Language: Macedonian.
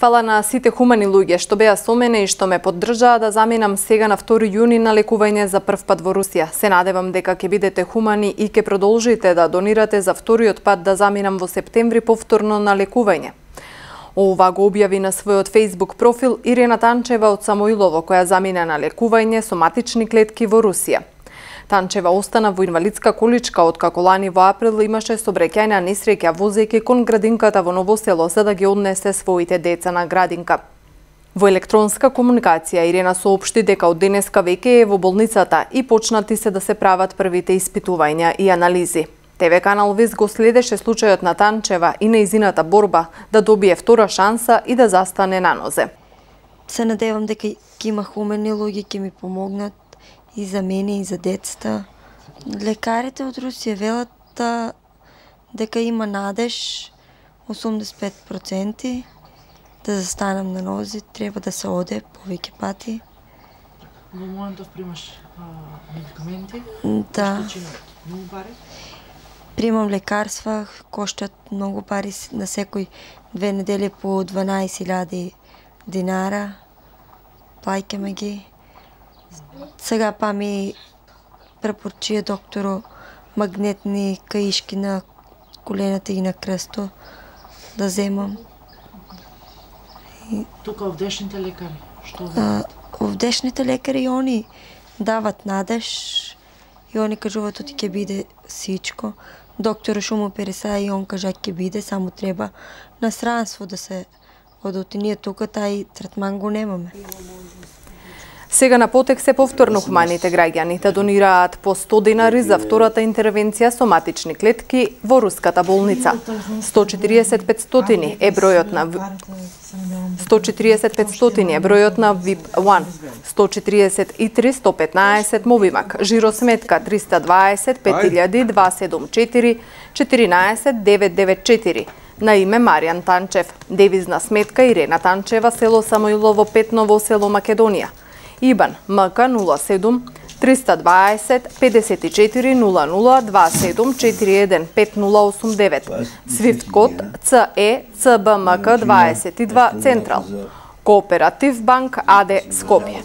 Фала на сите хумани луѓе што беа со мене и што ме поддржаа да заминам сега на 2 јуни на лекување за прв пат во Русија. Се надевам дека ќе бидете хумани и ќе продолжите да донирате за вториот пат да заминам во септември повторно на лекување. Ова го објави на својот Facebook профил Ирена Танчева од Самоилово, која замина на лекување со матични клетки во Русија. Танчева остана во инвалидска количка откако лани во април имаше сообраќајна несреќа возејќи кон градинката во Ново село за да ги однесе своите деца на градинка. Во електронска комуникација Ирена соопшти дека од денеска веќе е во болницата и почнати се да се прават првите испитувања и анализи. ТВ канал Виз го следеше случајот на Танчева и нејзината борба да добие втора шанса и да застане на нозе. Се надевам дека ќе има хумени луѓе ќе ми помогнат и за мене и за децата. Лекарите од Русија велат дека има надеж 85% да застанам на нози, треба да се оде повеќе пати. Во моментов примаш медикаменти? Да. Многу пари? Примам лекарства, коштат многу пари, на секој 2 недели по 12.000 динара. Плаќаме ги. Сега па ми препоръчи докторо магнетни каишки на колената и на кръсто да земам. Тука овдешните лекари, што овдешните лекари они дават надеж и они кажуваат оти ќе биде сичко. Доктор шо му переса и он кажа ќе биде, само треба на странство да се одоти. Ние тука тај третман го немаме. Сега на потек се повторно хуманите граѓани да донираат по 100 денари за втората интервенција со матични клетки во руската болница. 140-500 е бројот на 140-500 е бројот на VIP-1, 143-115 Мобимак, жиросметка 320 5274 14 994 на име Маријан Танчев, девизна сметка Ирена Танчева, село Самоилово 5, Ново село, Македонија. ИБАН МК 07 320 54 00 27 41 5089. Свифт код CE CBMK 22 Централ. Кооператив банк АД Скопје.